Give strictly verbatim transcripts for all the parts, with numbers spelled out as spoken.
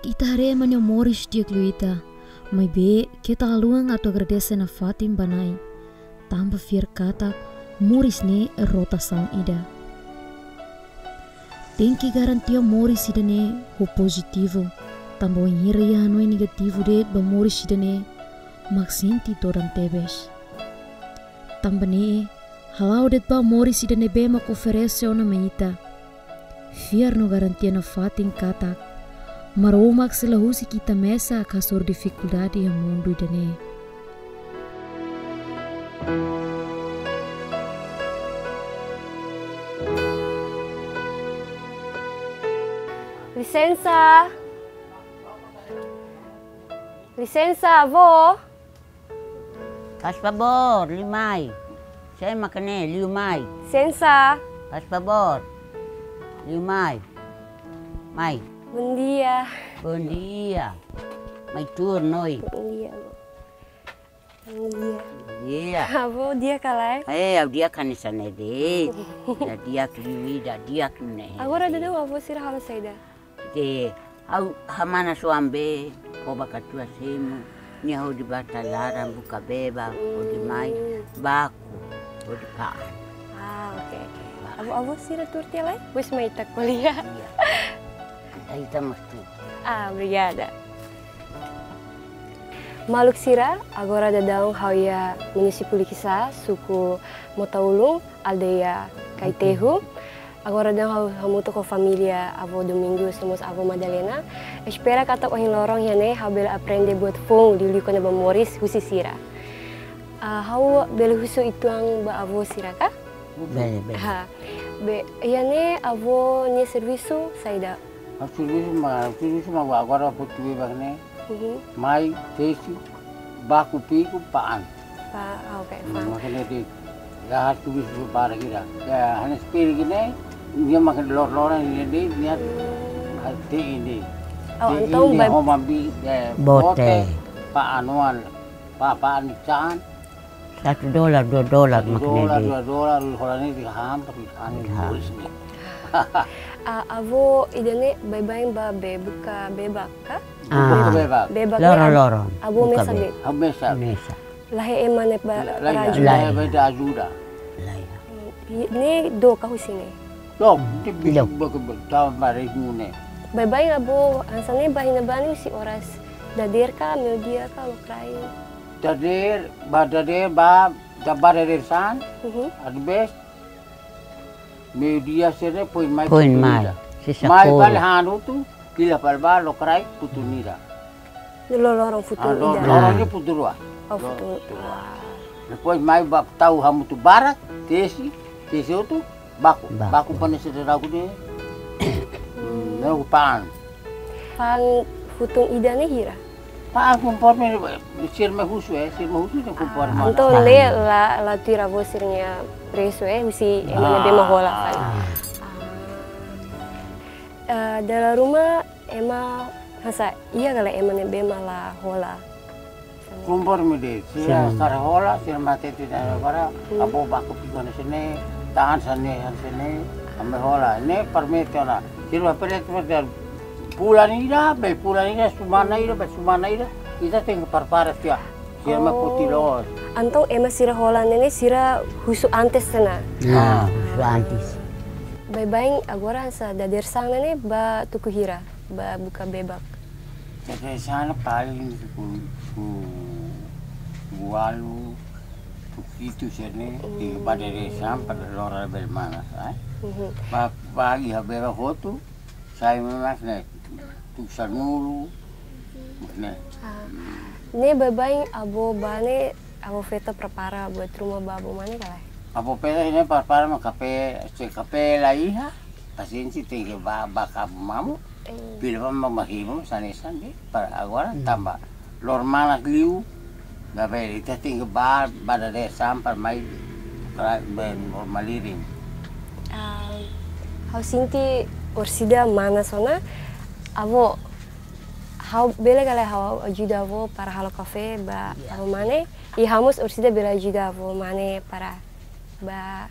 Ita haree ema nia moris di'ak liu ita, maibé keta haluha atu agradese nafatin ba Na'i. Tanba fiar katak moris ne'e rotasaun ida. Tenke garantia moris ida-ne'e ho pozitivu, tanba wainhira iha hanoin negativu de'it ba moris ida-ne'e, mak sente dodan tebes. Tanba ne'e, hala'o de'it ba moris ida ne'ebé mak oferese ona mai ita. Fiar no garantia nafatin katak Maromak sei la husik ita mesak hasoru difikuldade iha mundu ida-ne'e. Lisensa. Lisensa, avó. Faz favor, liu mai. Sé mak ne'e, liu mai. Lisensa. Faz favor. Liu mai. Mai. Bom dia. Bom dia. Mai tuur, noi. Bom dia, avó. Bom dia. Dia. Avó, di'ak ka lae? Eh, ha'u di'ak hanesan ne'e de'it. Ida di'ak liu, ida di'ak ne'e. Agora daudaun avó sira halo saida? De'it, ha'u hamanas oan be, koba katuas hemu, nia hodi bá talaran buka bebak, hodi mai, baku, hodi fa'an. Ah, oke, oke. Fa'an. Avó, avó sira tuur tiha lai? Depois mai ita ko'alia. Iya. Ita, ita mós tuur. Ah, obrigada. Maluk sira, agora daudaun ha'u iha munisípiu Likisá, suku Mota-Ulun, aldeia Kaitehu. Agora daudaun ha'u hamutuk ho família avó Domingos, no mós avó Madalena. Espera katak ohin loron iha ne'e ha'u bele aprende buat foun liuliu kona-ba moris husi sira. Ah, ha'u bele husu uitoan ba avó sira ka? Bele, bele. Ha. Be, iha ne'e avó nia servisu saida? Ha'u servisu mak, ha'u servisu mak agora portu bebak ne'e. Mhm. Mai, tesi, baku, fiku, fa'an. Fa-, ah, oke, fa'an. Mak ne'e de'it, ya, ha'u servisu barak ida. Ya, hanesan peri gini, nia mak lor-loran ne'e de'it, nia, hmm, ha'u te'in de'it. Oh, te'in entaun de'it, ba- ho mabi, eh, bote, bote, fa'an oan, fa-, fa'an ikan. Satu dolar, dua dolar. Satu mak ne'e dolar, de'it. Dua dolar, hola ne'e de'it han, tapi han. De'it han. Bolis ne'e. Ah, avó ida-ne'e baibain bá be buka bebak ka? Ah. Buka bebak. Bebak ne'e loron-loron. Avó buka mesak be- de'it? Avó mesak. Mesak. La iha ema ne'ebé la, la iha, para ajuda? La iha, la iha. La iha. Hmm, i ne'e dook ka husi ne'e? Dook, hmm, de'it, dook. Buka be-, tau bare hune. Baibain avó hanesan ne'e bá iha ne'ebá ne'e husi oras dadeer ka, meiudia ka, lokraik? Dadeer, bá dadeer, bá, da bá dadeer-saan, mhm, às vezes, meiudia sira-ne'e foin mai. Foin mai, futu ida. Sisa mai koru. Fali han hotu, fila fali bá, lokraik, futu ida. Lor-loron futu ida. Ah, lor-, loron ne'e futu rua. Oh, futu. Lor-, futu rua. Ah. Depois mai bá tau hamutuk barak, tesi, tesi hotu, baku. Baku. Baku fa'an sira daudaun ne'e. Hmm. Ne'e fa'an. Fa'an futun ida ne'e hira? Fa'an konforme sira mai husu, eh, sira mai husu ne'e konforme. Ah, entaun, fa'an, ne'e la, la tuir avó sira-nia presu, eh, husi ema ne'ebé mak hola fali. Ah. Ah. Eh, dala ruma ema hanesan iha ka lae ema ne'ebé mak la hola? Konforme de'it, sira, hmm, sira hola, sira mai hatete de'it agora, hmm, avó baku fiku hanesan ne'e, fa'an hanesan ne'e, hanesan ne'e, ami hola, ne'e permite ona. Sira permite fulan ida, be fulan ida, semana ida, be semana ida, ita tenke prepara tiha. Sira mai foti loos. Oh. Entaun ema sira hola ne'e ne'e sira husu antes ona? Ah, husu antes. Baibain agora hanesan dadeer-saan ne'e ne'e bá tuku hira, bá buka bebak? Dadeer-saan paling tuku, tuku ualu, tuku hitu sira-ne'e, hmm, i bá dadeer-saan para loron bele manas, eh. Mhm. Bá, bá iha bebak hotu, sai mai mak ne'e, tuku sanulu, mak ne'e. Ah. Hmm. Ne'e baibain avó bá ne'e, avó feto prepara buat ruma ba avó mane ka lae? Avó feto ne'e prepara mak kafé, se kafé la iha, pasiénsia tenke bá, bá kabu mamu, eh, fila fali mamu himu, hanesan ne'e, para agora, hmm, tanba loron manas liu, labele, ita tenke bá, bá dadeer-saan para mai, para be normal lirin. Ah, ha'u sente orsida manas ona, avó, ha'u bele ka lae ha'u ajuda avó para halo kafé ba, iya, avó mane, i ha'u mós orsida bele ajuda avó mane para bá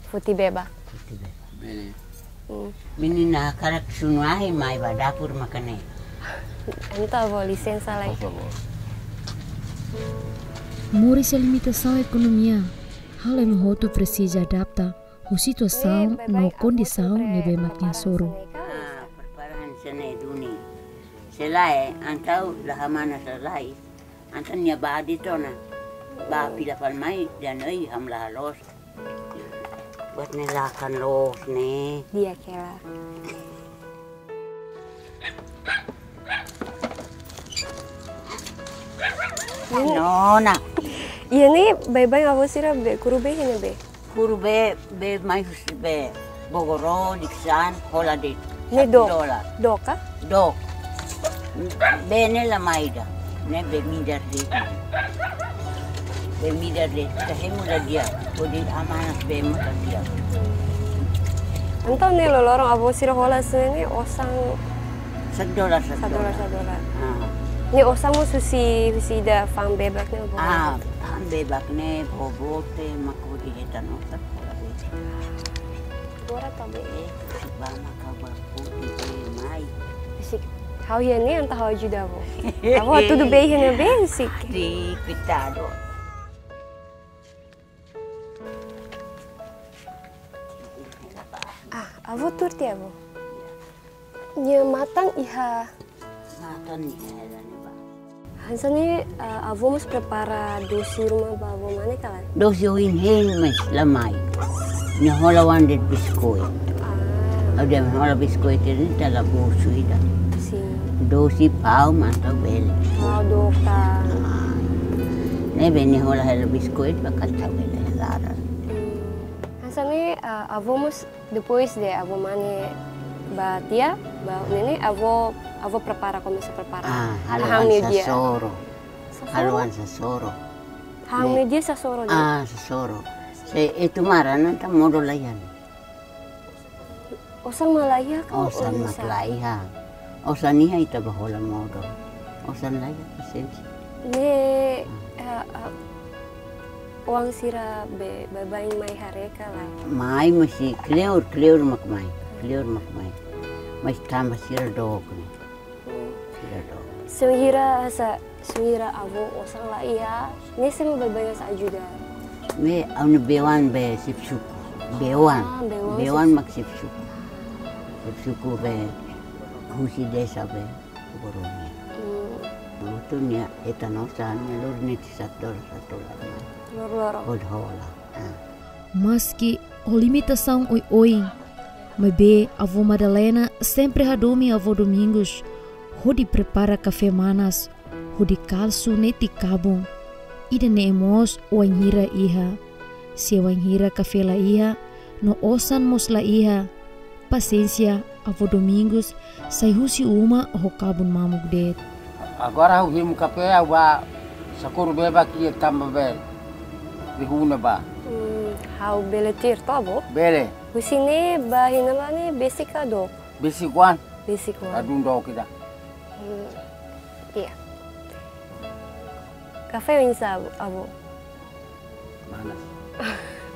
foti bebak. Foti bebak. Bele. Hmm. Menina hakarak sunu ahi mai ba dapur mak ne'e. Entaun, avó, lisensa lai. Por favor. Moris iha limitasaun ekonomia, halo ema hotu presiza adapta ho situasaun no kondisaun ne'ebé mak nia hasoru. Ah, prepara hanesan ne'e duni. Se lae, entaun la hamanas lalais. Entaun nia bá de'it ona. Bá fila fali mai, dehan oi, ha'u la haloos. Buat ne'e lakan loos ne'e. Di'ak hela. Nona. Iha ne'e baibain avó sira be, kuru bee iha ne'ebé? Kuru bee, bee mai husi be Bogoró, Likisá, hola de'it. Ne'e dook. Satu dolar. Dook ka? Dook. Bee ne'e la mai ida. Ne'e bee midar de'it. Bee midar de'it. Ita hemu la di'ak. Hodi hamanas bee maka di'ak. Entaun ne'e loroloron avó sira hola hanesan ne'e osan? Satu dolar, satu dolar. Satu dolar, satu dolar. Ah. Ne'e osan mós husi, husi ida fa'an bebak ne'e, avó? Ah, fa'an bebak ne'e, bobote, mak hodi hetan osan hola bee. Agora tá bem. Eh, se ba maka ba pute bee mai. Besik, ha'u iha ne'e entaun ha'u ajuda avó. Avó, tudo bem, iha ne'ebé, besik? Sim, coitado. Ah, avó tuur tiha, avó. Nia matan iha. Matan iha, iha ne'ebá. Hanesan ne'e, eh, avó mós prepara dosi ruma ba avó mane ka lae? Dosi ohin hein, mas la mai. Nia hola oan de'it biskuit. Ah. Ha'u dehan hola biskuit ne'e ita la busu ida. Sim. Dosi pau mak ita bele. Pau dook tan. Ah. Ne'ebé nia hola hela biskuit, ba ita bele laran. Hmm. Hanesan ne'e, eh, avó mós depois de avó mane bá tiha, bá ne'e ne'e, avó, avó prepara, komesa prepara. Ah, halo oan sasoro. Sasoro? Halo oan sasoro. Hahán ne'e meiudia sasoro de'it? Ah, sasoro. Se ita mara, entaun modo la iha. Osan mak la iha ka? Osan mak la iha. Osan iha ita bá hola modo. Osan la iha, pasensia. Ne'e, eh, eh, oan sira be, baibain mai haree ka lae? Mai, mas kleur, kleur mak mai. Kleur mak mai. Mas tanba sira dook ne'e. Hmm. Sira dook. Se wainhira sa, se wainhira avó osan la iha, ne'e sé mak baibain ajuda? Ne'e, ha'u-nia bee-oan be xefe suku. Bee-oan. Ah, bee-oan. Bee-oan xefe suku. Mak xefe suku. Xefe suku be husi desa be Bogoró nian. Hmm. Hotu nia hetan osan, nia lori netik satu dolar, satu dolar. Loroloron. Hodi hola. Ah. Maski ho limitasaun oioin, maibé avó Madalena sempre hadomi avó Domingos hodi prepara kafé manas, hodi kalsu netik kabun. Ida-ne'e mós wainhira iha. Se wainhira kafé la iha, no osan mós la iha, pasensia, avó Domingos sai husi uma ho kabun mamuk de'it. Agora ha'u hemu kafé, ha'u bá sakuru bee bá ki'ik tanba bee, bee huna bá. Hmm, ha'u bele tuir to'o, avó? Bele. Husi ne'e bá iha ne'ebá ne'e besik ka dook? Besik oan. Besik oan. Ladún dook ida. Hmm, iya. Kafé oinsá, avó? Manas.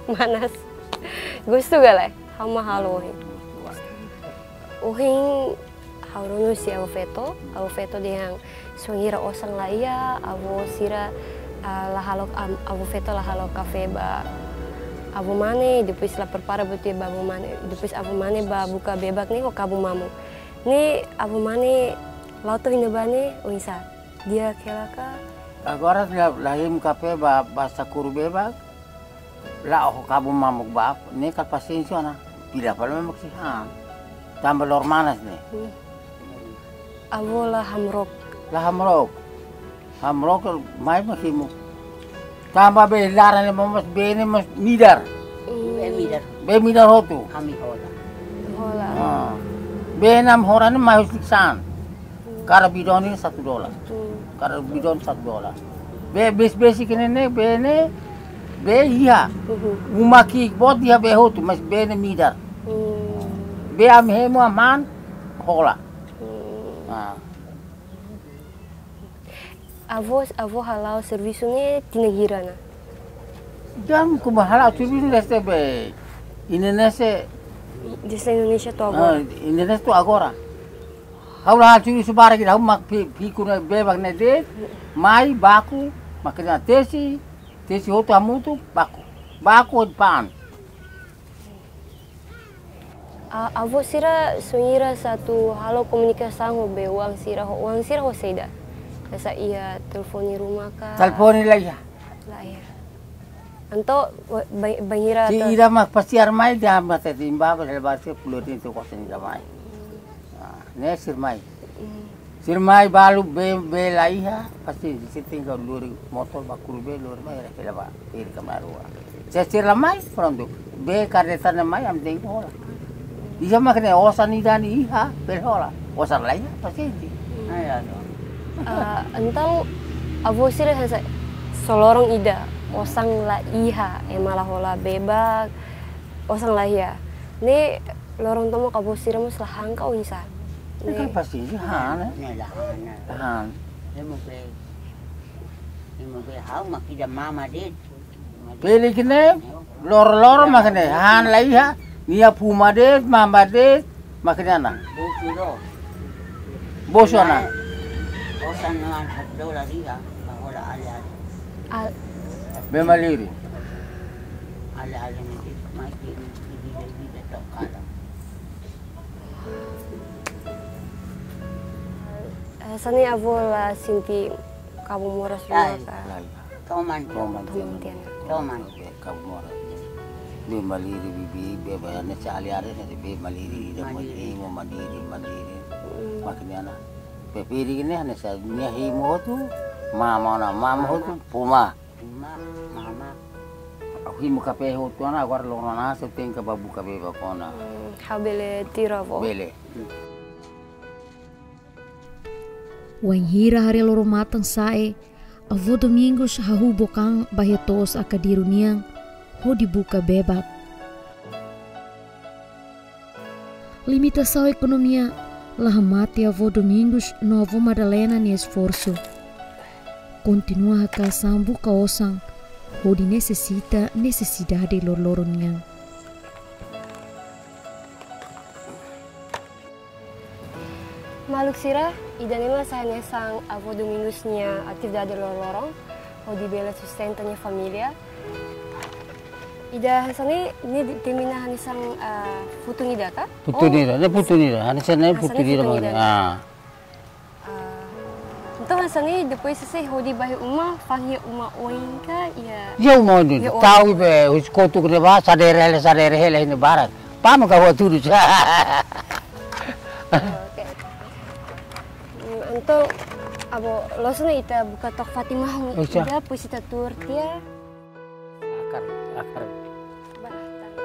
Manas. Gostu ka lae? Ha'u mak halo ohin. Ohin ha'u rona husi avó feto, avó feto dehan se wainhira osan la iha, avó sira, ah, la halo, am-, avó feto la halo kafé ba avó mane, depois la prepara buat ida ba avó mane, depois avó mane bá buka bebak ne'e ho kabun mamuk. Ne'e avó mane la'o to'o iha ne'ebá ne'e oinsá? Di'ak hela ka? Agora la, la hemu kafé bá, bá sakuru bee bá, la'o ho kabun mamuk bá, ne'e kala pasensia ona, fila fali mai mak sei han. Tanba loro manas ne'e. Hmm. Avó la hamrook? La hamrook. Hamrook mai mak hemu. Tanba bee laran ne'e mós bee ne'e mós midar. Hmm. Bee midar. Bee midar hotu. Ami hola. Hola. Ah. Bee ne'e ami hola ne'e mai husi Likisá. Kada bidon ne'e satu dolar. Hmm. Kada bidon satu dolar. Bee bes-, besik ne'e ne'e, bee ne'e, bee iha. Mhm. Uma ki'ik boot iha bee hotu, mas bee ne'e midar. Hmm. Bee ami hemu, ami han, hola. Hmm. Ah. Avó, avó hala'o servisu ne'e tinan hira ona? Jam kuma hala'o servisu dezde be Indonézia. Dezde Indonézia to'o agora? Ah, Indonézia to'o agora. Ha'u la halo servisu barak ida, ha'u mak pi-, piku ne'e bebak ne'e de'it, mai baku, mak ita tesi, tesi hotu hamutuk, baku. Baku depan. A-, avó sira sira atu halo komunikasaun ho bei-oan sira, ho oan sira ho saida? Hanesan iha telefone ruma ka? Telefone la iha. La iha. Entaun, wa-, bai-, bainhira Se atu ida mak pasiar mai dia mata timba ba lebar se puluh tin tu kosen ida mai. Ah, ne'e sira mai. Mm. Sira mai balu bee, bee la iha, pasti sira tenke lori motor ba kuru bee lori mai ira kela ba iri kamar rua. Se sira la mai, prontu. Bee kareta ne'e mai, ami tenke hola. Iha mak ne'e osan ida-ne'e iha, bele hola. Osan la iha, pasiente. Hmm. Ai, anu. Ah, entaun, avó sira hanesan só loron ida, osan la iha, ema la hola bebak, osan la iha. Ne'e loron tomak avó sira mós la han ka oinsá? Ne'e kan pasiente han, ne'e? Ne'e la han, ne'e. La han. Ema be, ema be ha'u mak ida mama de'it. Peli kene, lor-lor mak ne'e, han la iha, nia puma de'it, mama de'it, mak ne'e ana. Bosu do. Bosu ana. Osan no an hak do la riga, ba hola ale-ale. Al- Bee maliri. Ale-ale ni di, mai di, di, di, di, di, di, tok kalam. Eh, hanesan ne'e avó la sente kabun moras ruma ka? Lae. Toman. Toman. Toman tiha ona. Toman. Kabun moras. Bee maliri bibi, bee ba hanesan ale-ale, hanesan bee maliri, ida mo Maliri. Imo maliri, maliri. Hmm. Mak ne'e ana. Bee peri ne'e hanesan nia hemu hotu, mama ona, mama hotu, puma. Puma, mama. Ha'u hemu kafe hotu ona, agora loron ona, se tenke ba buka bee ba kona. Hmm, ha'u bele tuir avó? Bele. Wainhira haree loro-matan sa'e, avó Domingos hahú book an ba iha to'os Akadiru nian hodi buka bebak. Limitasaun ekonomia la hamate avó Domingos no avó Madalena nia esforsu. Kontinua haka'as an buka osan hodi nesesita nesesidade loroloron nian. Maluk sira, ida-ne'e mak sai hanesan avó Domingos nia atividade loroloron, hodi bele sustenta nia família. Ida hanesan ne'e, ne'e di-, denomina hanesan, ah, futun ida ka? Futun ida, ne'e futun ida, hanesan ne'e futun ida mak ne'e. Ah. Ah, entaun hanesan ne'e, depois sei hodi ba iha uma, fa'an iha uma oin ka, iha? Iha uma oin. Iha uma oin. Tau iha be, husi kotuk ne'ebá, sadere hela, sadere hela, iha ne'e barak. Pama ka hua tudu. Oke. Hmm, entaun, avó, loos ona ita buka took fatin mahon ida, depois ita tuur tiha. Akar, akar. Ba akar.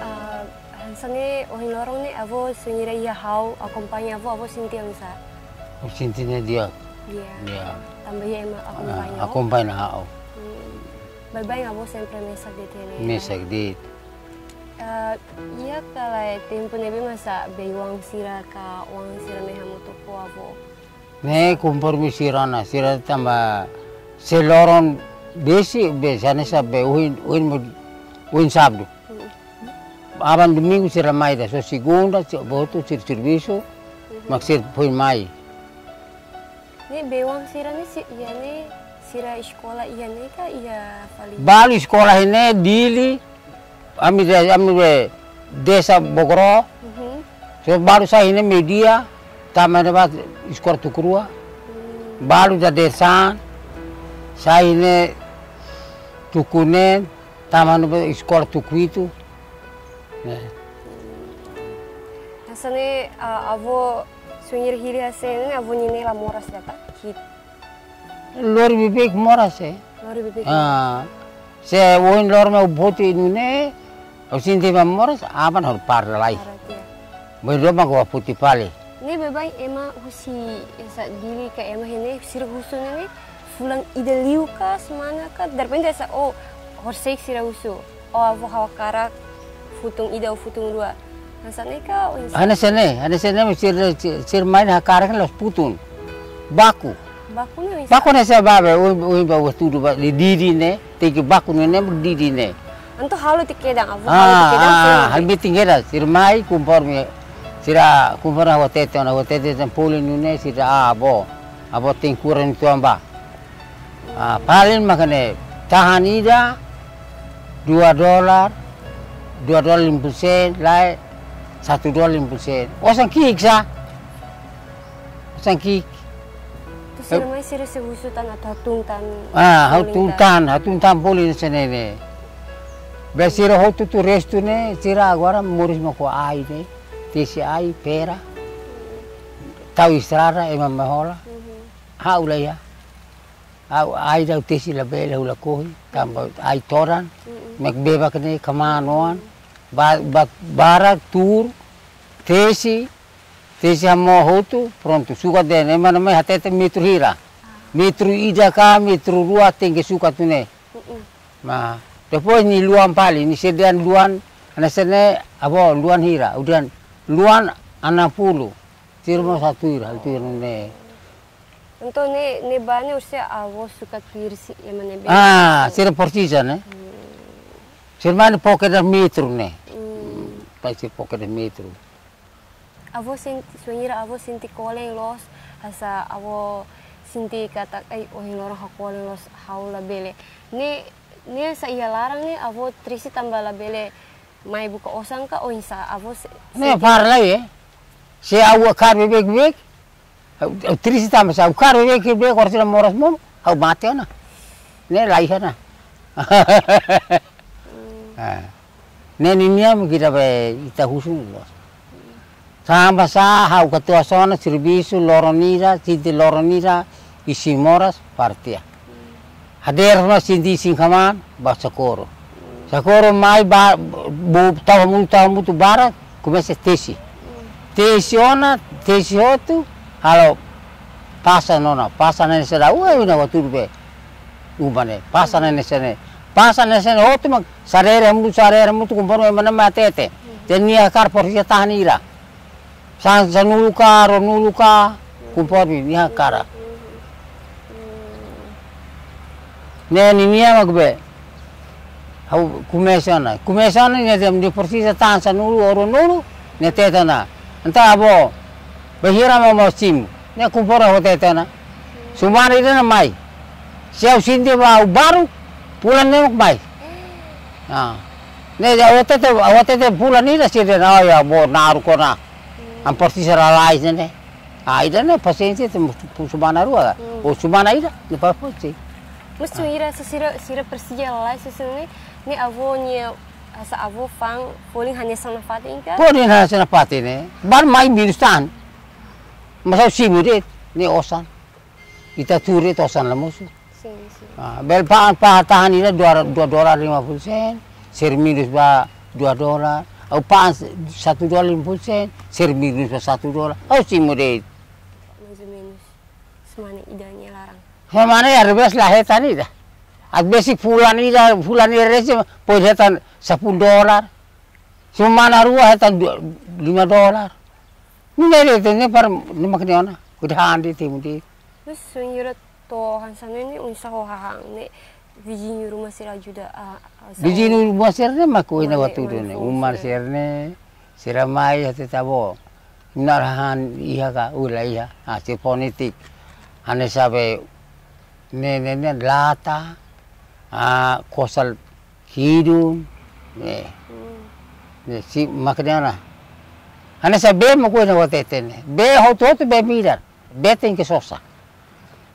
Ah, hanesan ne'e, ohin loron ne'e, avó sira iha ha'u, akompaña avó, avó sente oinsá? Sente ne'e di'ak. Di'ak. Di'ak. Tanba iha ema akompaña. Ah, akompaña ha'u. Hmm. Baibain avó sempre mesak de'it ne'e? Mesak de'it. Ah, iha kala tempu ne'ebé masa bei-oan sira ka oan sira ne'e hamutuk ho avó? Ne'e konforme sira ona, sira tanba se loron besik, besik hanesan be ohin, ohin mo, ohin sábadu. Hmm. Aban domingu sira mai ida, só segunda, se botu sira servisu, mak sira foin mai. Ne'e bei-oan sira ne'e si-, iha ne'e sira eskola iha ne'e ka iha fali? Balu eskola iha ne'e Dili, ami de, ami de desa Bogoro. Mhm. So balu sai iha ne'e meiudia, tama iha ne'ebá eskola tuku rua. Hmm. Balu da desa, sai iha ne'e tuku neen, tama iha ne'ebá eskola tuku hitu. Ne'e. Hanesan ne'e, ah, avó sira hili hanesan ne'e, avó ninia ne'e la moras ida ka? Ki- Lori beibeik moras, eh. Lori beibeik. Ah, se ohin loron mai foti nune'e, ha'u sente mak moras, aban ha'u para lai. Para tiha. Bainhira mak ha'u foti fali. Ne'e baibain ema husi hanesan Dili ka ema iha ne'e, sira husu ne'e, fulan ida liu ka, semana ka, derrepente hanesan, oh, Horiseik sira husu, "Ó avó, ha'u hakarak futun ida ou futun rua." Hanesan ne'e ka oinsá? Hanesan ne'e, hanesan ne'e, sira, sira mai hakarak la'ós futun. Baku. Baku ne'e oinsá? Baku ne'e sá, babe, ohin, ohin ba hatudu ba, didin ne'e, tenke baku ne'e, ne'e didin ne'e. Entaun halo tiha kedan, avó halo tiha kedan, ah, sira halo tiha kedan, sira mai konforme, sira konforme ha'u hatete ona, ha'u hatete tan poli nune'e, sira, ah, avó, avó tenke kura uitoan ba. Ah, paling mak ne'e, tahan ida, dua dolar, dua dolar lima puluh sen, lae, satu dolar lima puluh sen. Osan ki'ik sá. Osan ki'ik. Entaun sira mai sira sei husu tan atu hatun tan. Ah, poli hatun tan, hatun tan poli hanesan ne'e. Be sira hotu-hotu restu ne'e, sira agora moris mak ho ai ne'e. Tesi ai, pera. Tau estrada, ema mai hola. Mhm. Ha'u laiha. Ha'u ai ida tesi labele, ha'u lakohi, tanba ai todan, mm-mm, mak bebak ne'e kmaan oan, ba-, ba-, barak tuur, tesi, tesi hamoos hotu, prontu, sukat de'it, ema ne'e mai hatete metru hira. Ah. Metru ida ka, metru rua, tenke sukat ne'e. Mm-mm. Nah, depois nia luan fali, nia sei dehan luan, hanesan ne'e, avó, luan hira, ha'u dehan luan enam puluh, sira mós hatuir, hatuir ne'e. Entaun ne'e, ne'ebá ne'e orsida avó sukat tuir sira ema ne'ebé. Ah, sira presiza, ne'e? Hmm. Sira mai fó kedas metru ne'e. Hmm. Pai sira fó kedas metru. Avó sente, suanhira avó sente kolen loos, hanesan avó sente katak, "Ai, ohin loron ha'u kolen loos, ha'u labele." Ne'e, ne'e hanesan iha laran ne'e, avó triste tanba labele mai buka osan ka oinsá, avó se-, ne'e sente para lai, eh. Se ha'u hakarak beibeik, beibeik, ha'u, ha'u triste tanba se ha'u hakarak beibeik, beibeik, orsida moras monu, ha'u mate ona. Ne'e laiha ona. Hmm. Ah. Ne'e ninia mak ita be, ita husu loos. Tanba sá, ha'u katuas ona servisu loron ida, sente loron ida, isin moras, para tiha. Hadeer ona sente isin kmaan, ba Sakoro. Sakoro mai ba, bu, tau hamutuk, tau hamutuk barak, komesa tesi. Tesi ona, tesi hotu, halo pasa ona, pasa ne'e sira, ue, ue, na watu be. Uma ne'e, pasa ne'e sira ne'e. Pasa ne'e sira ne'e hotu mak, sarere hamutuk, sarere hamutuk, konforme ema ne'e mai hatete. Jadi nia hakarak porsi tahan ida. San, sanulu ka, ruanulu ka, konforme nia hakarak. Ne'e ninia mak be. Ha'u komesa ona. Komesa ona nia dehan nia presiza tahan sanulu ou ruanulu, nia hatete ona. Entaun avó, bainhira mak mak simu. Ne'e konforme ha'u hatete ona. Semana ida ona mai. Se ha'u sente ba ha'u baruk, fulan ne'e mak mai. Ah. Ne'e ha'u hatete, ha'u hatete fulan ida sira dehan, "Oh ya, avó naruk ona." Ami presiza lalais ne'e. Ah, ida-ne'e pasiénsia atu semana rua ka? Hmm. Ou semana ida, ne'e para foti. Mas, ah, sira, se sira, sira presiza lalais, se sira ne'e, ne'e avó nia, hanesan avó fa'an, folin hanesan nafatin ka? Folin hanesan nafatin ne'e. Bainhira mai minus tan. Mas ha'u simu de'it, ne'e osan. Ita tuur de'it osan la mosu. Sin, sin. Ah, bele fa'an, fa'an tahan ida dua, dua dolar lima puluh sen, sira minus ba dua dolar. Ha'u fa'an satu dolar lima puluh sen, sira minus ba satu dolar. Ha'u simu de'it. Mais ou menus semana ida nia laran. Semana ida, às vezes la hetan ida. Às vezes fulan ida, fulan ida rese, pode hetan sepuluh dolar. Semana rua hetan dua, lima dolar. Ne'e de'it, ne'e para, ne'e mak ne'e ona. Kuda handi timu di. Terus, senhora, to'o hanesan ne'e, oinsá ho hahán ne'e, viziñu ruma sira ajuda, ah, ah, sa-, viziñu ruma sira ne'e mak ohin ha'u hatudu ne'e. Uma sira ne'e, sira mai hatete avó. Nu'udar hahán iha ka, ui laiha. Ah, sira fó netik. Hanesan be, ne'e, ne'e, ne'e, lata, ah, kosal hidung, ne'e. Hmm. Ne'e, sira mak ne'e ona. Hanesan bee mak ohin ha'u hatete ne'e. Bee hotu-hotu bee midar. Bee tenke sosa.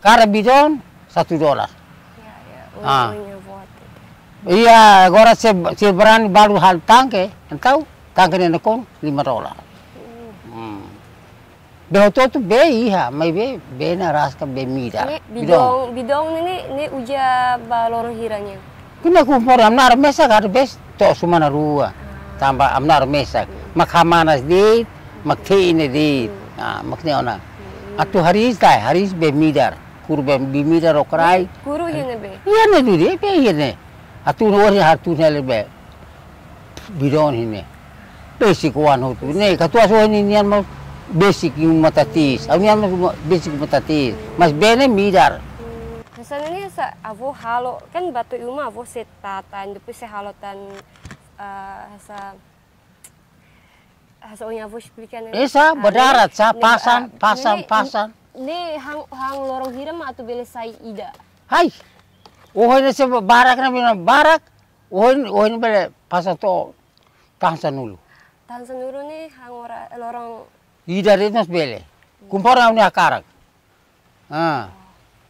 Kada bidon satu dolar. Ya, ya. Ah. Untungnya buat itu. Iya, agora se, se berani balu halo tangke, entaun tangke ne'e nakonu lima dolar. Hmm. Hmm. Bee hotu-hotu bee iha, maibé bee ne'e rasik ka bee midar. Ne'e bidon, bidon ne'e, ne'e, ne'e uza ba loron hira nian? Kina ku por ami na'in mesak às vezes to'o semana rua. Ah. Tanba ami na'in mesak. Hmm. Mak hamanas de'it, mak te'in de'it. Hmm. Ah, mak ne'e ona. Hmm. Atu hariis ka, hariis bee midar. Kuru bee, bee midar okraik. Kuru iha ne'ebé? Iha ne'e duni, bee iha ne'e. Atu no ori atu ne lebe. Bidon hine. Besik oan hotu. Ne'e, katuas oan nian mós besik iha uma tatiis. Ha'u-nian mós besik iha uma tatiis. Mas bee ne'e midar. Hmm. Hanesan ne'e hanesan avó halo, kan batu iha uma avó sei tata, depois sei halo tan, eh, hanesan, hanesan ohin avó esplika ne'e. Esa, ah, badarat, ne'e, sa, ne'e, pasan, ah, pasan, ne'e, pasan. Ne'e han, han loron hira mak atu bele sai ida. Hai. Ohin ne'e sei barak na bina barak. Ohin, ohin bele pasan to'o tahan sanulu. Tahan sanulu ne'e han ora loron. Ida de'it mós bele. Konforme ha'u-nia hakarak. Ah.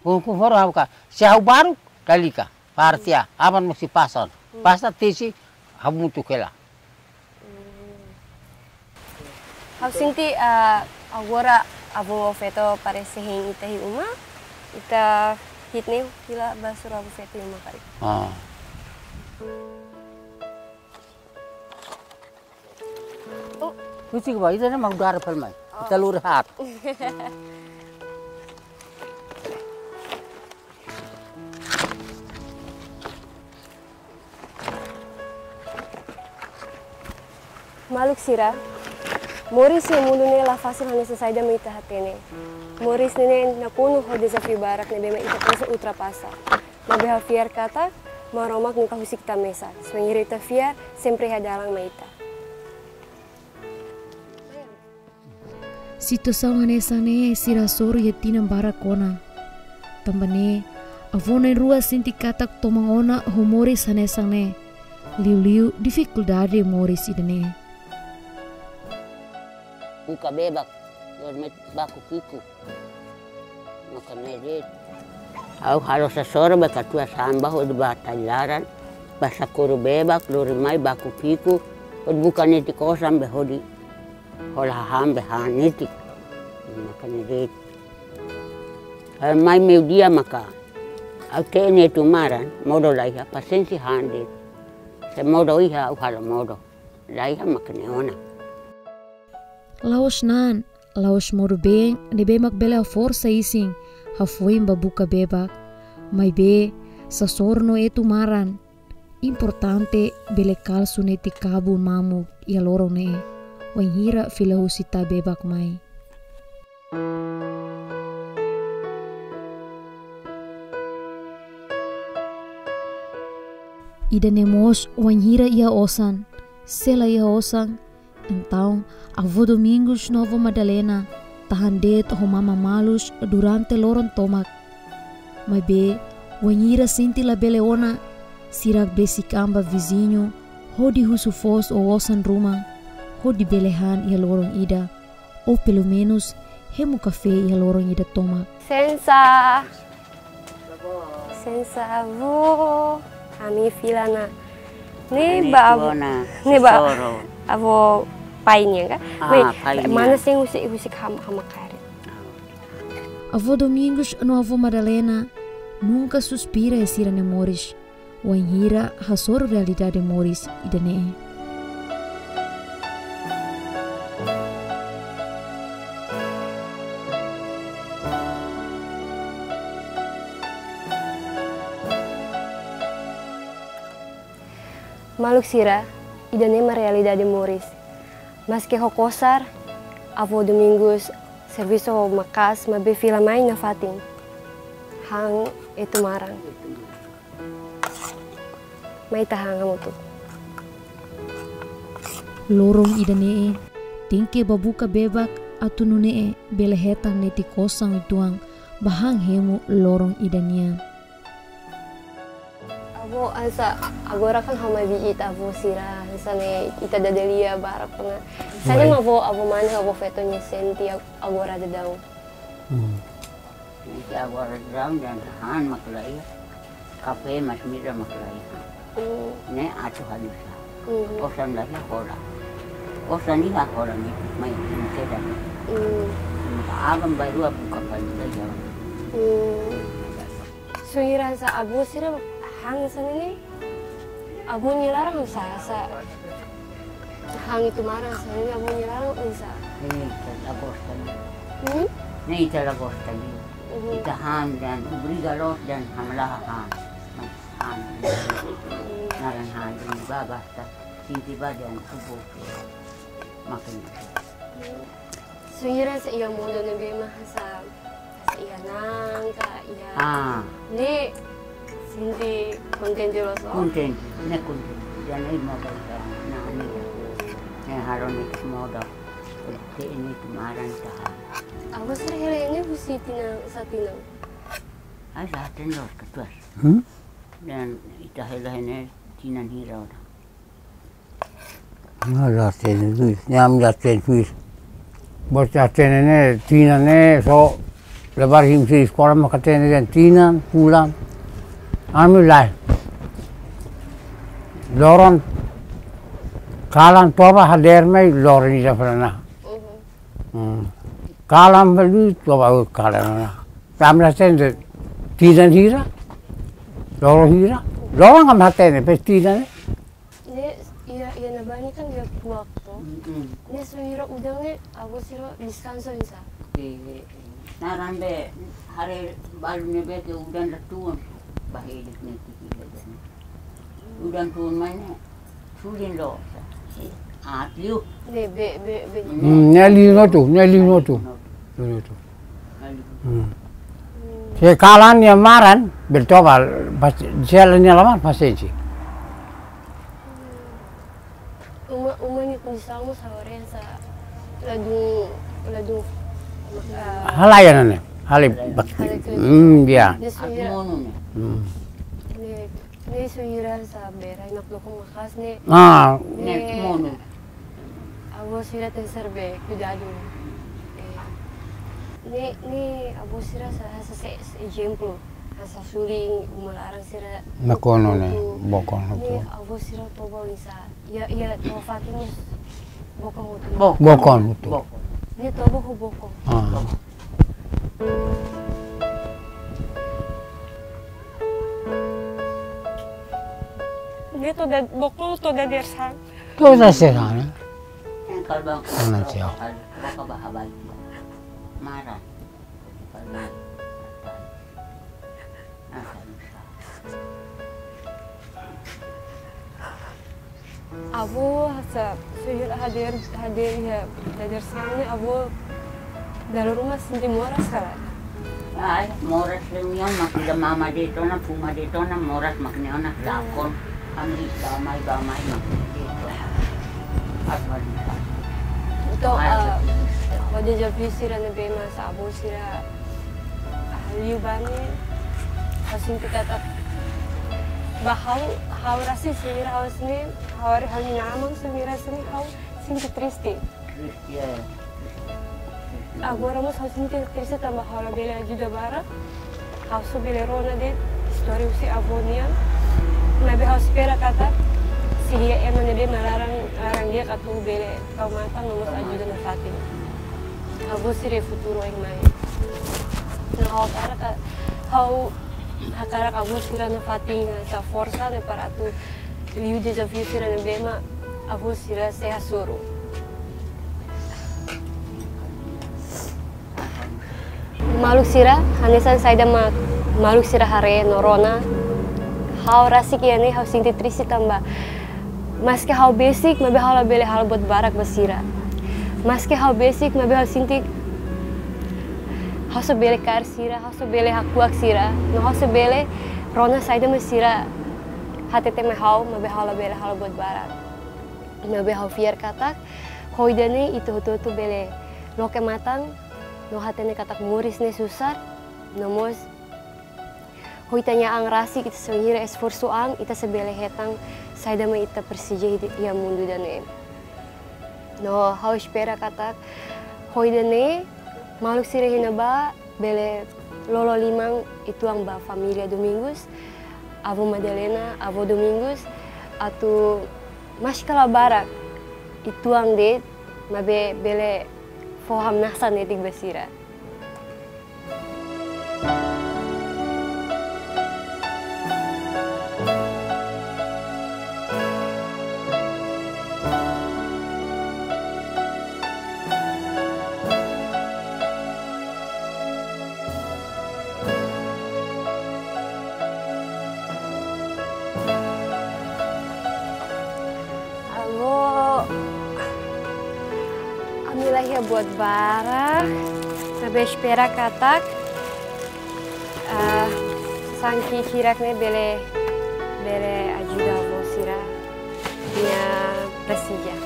Kon-, konforme ha'u ka. Se ha'u baruk, lalika. Parte A, aban mós sei pasan. Hmm. Pasan tesi, hamutuk hela. Hmm. Ha'u sente, ah, agora avó feto parese hein ita iha uma, ita hi'it ne'e fila ba hasoru avó feto iha uma karik. Ah. Oh. Husik ba, ida-ne'e mak dara pel mai. Oh. Ita lori haat. Maluk sira, moris iha mundu ne'e la fasil hanesan saida mak ita hatene. Moris ne'e nakonu ho dezafiu barak ne'ebé mak ita presiza ultrapasa. Maibé ha'u fiar katak Maromak nunka husik ita mesak. Se wainhira ita fiar, sempre iha dalan mai ita. Situasaun hanesan ne'e sira hasoru iha tinan barak ona. Tanba ne'e, avó na'in-rua sente katak toman ona ho moris hanesan ne'e. Liuliu difikuldade moris ida-ne'e. Buka bebak, dorme baku ki'ik. Maka ne'e de'it. Ha'u halo sasoro be katuas an ba hodi ba tailaran, ba sakuru bebak, lori mai baku ki'ik, hodi buka netik osan be hodi hola hahán be han netik. Maka ne'e de'it. Ha'u mai meiudia maka. Ha'u te'in Etu Maran, modo la iha, pasiénsia han de'it. Se modo iha, ha'u halo modo. La iha mak ne'e ona. La'ós na'an, la'ós modo-been ne'ebé mak bele haforsa isin, hafoin ba buka bebak. Maibé, sasoro no Etu Maran. Importante bele kalsu netik kabun mamuk iha loron ne'e. Wainhira fila husi ita bebak mai. Ida-ne'e mós wainhira iha osan, se la iha osan, entaun avó Domingos no avó Madalena tahan de'it ho mama malus durante loron tomak. Maibé, wainhira sente labele ona, sira besik an ba viziñu, hodi husu foos ou osan ruma, hodi bele han iha loron ida. Ou pelumenus, hemu kafé iha loron ida tomak. Sensa. Sensa avó. Ami fila ona. Ne'e ba avó, ne'e ba avó pai nian ka? Ah, pai nian. Mana sing husik, husik ham-, hama karet. Avó Domingos no avó Madalena nunka suspira iha sira-nia moris. Wainhira hasoru realidade moris ida-ne'e. Maluk sira, ida-ne'e mak realidade moris. Maske ho kosar, avó Domingos servisu ho maka'as maibé fila mai nafatin. Han Etu Maran. Mai ita han hamutuk. Loron ida-ne'e, tenke ba buka bebak atu nune'e bele hetan netik osan uitoan ba han hemu loron ida nian. Avó, hanesan agora kan ha'u mai biit avó sira, hanesan ne'e ita dada lia barak ona. Saida mak avó, avó mane, avó feto nia sente ag-, agora daudaun? Hmm. Ita agora daudaun dehan han mak la iha, kafé masin-midar mak la iha. Hmm. Ne'e atu hanesan. Hmm. Osan la iha hola. Osan iha hola ne'e, mai ne'e tidak. Hmm. Maka aban-bainrua buka paling la iha. Hmm. Sira hanesan avó sira han hanesan ne'e. Avó nia laran hanesan, hanesan han Etu Maran hanesan ne'e, avó nia laran hanesan. Ne'e ita la gosta ne'e. Hmm? Ne'e ita la gosta ne'e. Mhm. Ita han dehan obriga loos dehan hamlaha han. Naran hanu ba basta, sente ba dehan kubo. Makanya. Sira hanesan iha modo ne'ebé mak hanesan, hanesan iha na'an ka iha. Ah. Ne'e sente kontente loos? Kontente, ne'e kontente. Dehan iha modo ka, na'an ne'e. Ne'e halo ne'e modo. Te ini kemarin tahan. Avó sira hela iha ne'e husi tinan, sá tinan? Ai, sá tinan loos katuas. Hmm? Dehan ita hela iha ne'e tinan hira ona. Ami la hatene, ami la hatene. Bos hatene ne'e, tinan ne'e, só levar himi sei eskola, mak hatene dehan tinan, fulan. Ami lae. Loron, kalan toba hadeer mai, loron ida fali ona. Mhm. Hmm. Kalan fali, toba kalan ona. Ami la hatene, tinan hira, loron hira, loron ami hatene, pes tinan ne'e. Ne'e, iha, iha ne'ebá ne'e kan iha kuak to. Mm-mm. Ne'e só hira udan ne'e, avó sira deskansa oinsá? Eh, naran be, haree balu ne'ebé ke udan la tun, ba hela ne'e tiki udan. Udan tun mai ne'e, sulin loos. Ah, liu. Ne'e be, be, be. Hmm, ne'e liu no tu, ne'e liu no tu. Liu no tu. Hmm. Se kalan nia maran, bele toba, pas, se la nia la maran, pasiénsia. Uma, uma nia kondisaun mós agora hanesan ladún, ladún, ah, halai ona ne'e, halai bak-, halai klik. Hmm, ya. Ne'e só hira. Atu monu ne'e. Hmm. Ne'e, ne'e só hira hanesan bera, iha nakdoko maka'as ne'e. Ah. Ne'e, ne'e monu. Avó sira tenke ser be kuidadu. Eh, ne'e, ne'e avó sira hanesan, hanesan se, se ezemplu. Hanesan sulin, uma laran sira nakonu ne'e, nakonu. Bokon hotu. Ne'e avó sira toba oinsá? Iha, iha to'o fatin mós bokon hotu. Bokon. Bokon hotu. Bokon. Ne'e toba ho bokon. Ah. Ne'e to'o da-, bokon to'o dadeer-saan. To'o dadeer-saan, eh? Yang kalbang. Mana siapa? Bokon ba habai. Marah. Avó hanesan, só hira hadeer, hadeer iha dadeer-saan ne'e, avó dala ruma sente moras ka lae? Ai, moras lemian, mak ida mama de'it ona, fuma de'it ona, moras mak ne'e ona, lakon. Ami bá mai, bá mai, mak de'it ona. Atu bá. Entaun, ai, ah, atu. Ho dezafiu sira ne'ebé mak hanesan avó sira, ah, liu ba ne'e, ha'u sente katak ba ha'u, ha'u rasik sira ha'u sente, ha'u haree ha'u-nia inan-aman sira sente, ha'u sente triste. Triste, ya. Agora mós ha'u sente triste tanba ha'u labele ajuda barak. Ha'u só bele rona de'it istória husi avó nian. Maibé ha'u espera katak sei iha ema ne'ebé mak laran, laran di'ak atu bele tau matan no mós ajuda nafatin. Avó sira futuru oin mai. No ha'u hakarak ka, ha'u hakarak avó sira nafatin hanesan forsa ne'e para atu liu dezafiu sira ne'ebé mak avó sira sei hasoru. Maluk sira, hanesan saida mak maluk sira haree no rona, ha'u rasik iha ne'e ha'u sente triste tanba maske ha'u besik, maibé ha'u labele halo buat barak ba sira. Maske ha'u besik, maibé ha'u sente ha'u só bele kaer sira, ha'u só bele hakuak sira, no ha'u só bele rona saida mak sira hatete mai ha'u, maibé ha'u labele halo buat barak. Maibé ha'u fiar katak, ho ida-ne'e ita hotu-hotu bele loke matan, no hatene katak moris ne'e susar, no mós ho ita-nia an rasik, ita só hira esforsu an, ita sei bele hetan saida mak ita presiza iha mundu ida-ne'e. No ha'u espera katak ho ida-ne'e, maluk sira iha ne'ebá bele lolo liman uitoan ba família Domingos, avó Madalena, avó Domingos, atu maske la barak uitoan de'it, maibé bele fó hamnasa netik ba sira. Iha buat barak, maibé espera katak, ah, sanki hirak ne'e bele, bele ajuda avó sira nia presiza.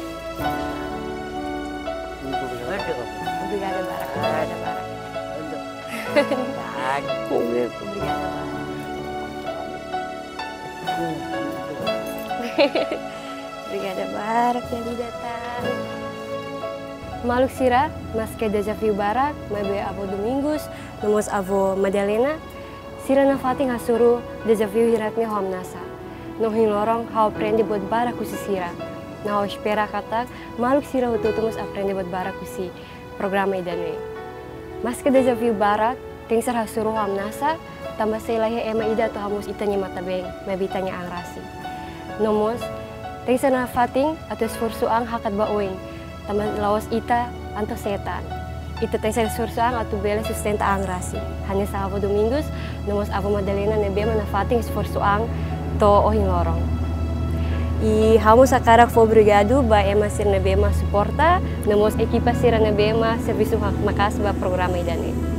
Obrigada barak, obrigada barak. Obrigada barak. Obrigada barak, Yali datang. Maluk sira, maske dezafiu barak, maibé avó Domingos, no mós avó Madalena, sira nafatin hasoru dezafiu hirak ne'e ho hamnasa. No ohin loron ha'u aprende buat barak husi sira. No ha'u espera katak maluk sira hotu-hotu mós aprende buat barak husi programa ida-ne'e. Maske dezafiu barak, tenke ser hasoru ho hamnasa, tanba sei la iha ema ida atu hamoos ita-nia matan-been, maibé ita-nia an rasik. No mós, tenke ser nafatin atu esforsu an hakat ba oin, tanba la'ós ita an to'o setan. Ita tenke ser esforsu an atu bele sustenta an rasik. Hanesan avó Domingos, no mós avó Madalena ne'ebé mak nafatin esforsu an to'o ohin loron. I ha'u mós hakarak fó obrigadu ba ema sira ne'ebé mak suporta, no mós ekipa sira ne'ebé mak servisu mak-, maka'as ba programa ida-ne'e.